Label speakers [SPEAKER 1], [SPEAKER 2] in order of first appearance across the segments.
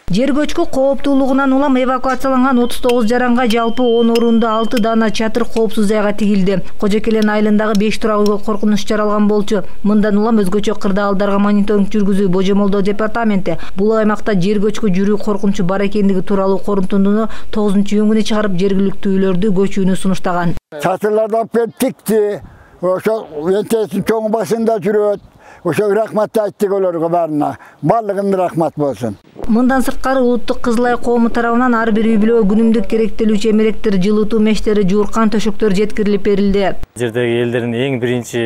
[SPEAKER 1] Жер көчкү кооптуулугунан улам эвакуацияланган 39 жаранга жалпы 10 орунду 6 дана чатыр коопсуз жайга тигилди. Кожокелен айылындагы 5 турак үйгө коркунуч жаралган болчу. Мындан улам өзгөчө кырдаалдарга мониторинг жүргүзүү Божомолдоо департаменти бул аймакта жер көчкү жүрүү коркунучу бар экендиги тууралуу корутундуну 9-июнү чыгарып жергиликтүүлөрдү көчүүнү сунуштаган.
[SPEAKER 2] Чатырлардан тикти, ошо вентесин чоң башында жүрөт. Ошо рахмат айттык олорго баарына. Барлыгына рахмат болсун.
[SPEAKER 1] Мындан сырткары улуттук Кызыл Ай коому тарабынан ар бир үй бүлөгө күнүмдүк керектелүүчү эмеректер, жылытуу мештери, жууркан төшөктөр жеткирилип берилди.
[SPEAKER 3] Жердеги элдердин эң биринчи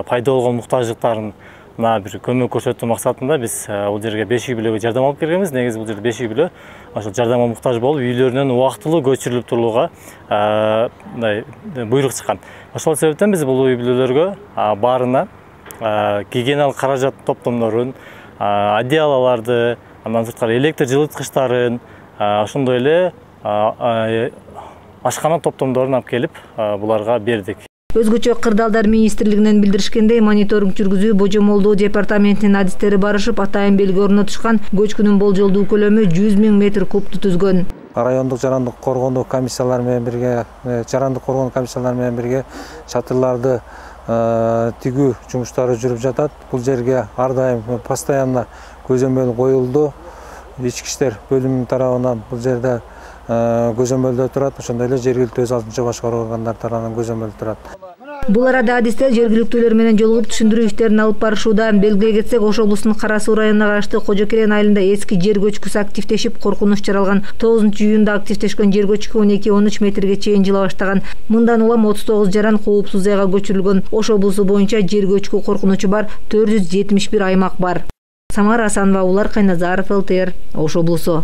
[SPEAKER 3] пайда болгон муктаждыктарын бир көмөк көрсөтүү максатында биз бул жерге 5 үй бүлөгө жардам алып келгенбиз. Негизи бул жерде 5 үй бүлө ошол жардамга муктаж болуп, үйлөрүнөн убактылуу көчүрүлүп турууга буйрук чыккан. Ошол себептен биз бул үй бүлөлөргө баарына гигиеналык каражат топтомдорун, одеялаларды, андан сырткары электр жылыткычтарын, ошондой эле ашкана топтомдорун алып келип буларга бердик.
[SPEAKER 1] Өзгөчө Кырдаалдар министрлигинен билдиришкендей, мониторинг жүргүзүү Божомолдоо департаментинин адистери барышып, атайын белги орнотушкан. Көчкүнүн болжолдуу көлөмү 100 000 метр кубту түзгөн.
[SPEAKER 4] Райондук жарандык коргоонуу комиссиялары менен бирге, жарандык коргоонуу комиссиялары менен бирге чатырларды тигүү жумуштары жүрүп жатат. Бул жерге ар дайым постоянно көзөмөл коюлду. Ички иштер бөлүмүнүн тарабынан бул жерде көзөмөлдө турат. Ошондой эле жергиликтүү өз алдынча башкаруу органдары тарабынан көзөмөлдө турат.
[SPEAKER 1] Бул арада адистер жергиликтүүлөр менен жолугуп түшүндүрүү иштерин алып барышууда. Белгилей кетсек, Ош облусунун Кара Суу районуна караштуу Кожокелен айылында эски жер көчкүсү активдешип, коркунуч жаралган. 9-июнда активдешкен жер көчкү 12-13 метрге чейин жыла баштаган. Мындан улам 39 жаран коопсуз жайга көчүрүлгөн. Ош облусу боюнча жер көчкү коркунучу бар 471 аймак бар. Самара Асанова, Улар Кайназаров, ЛТР, Ош облусу.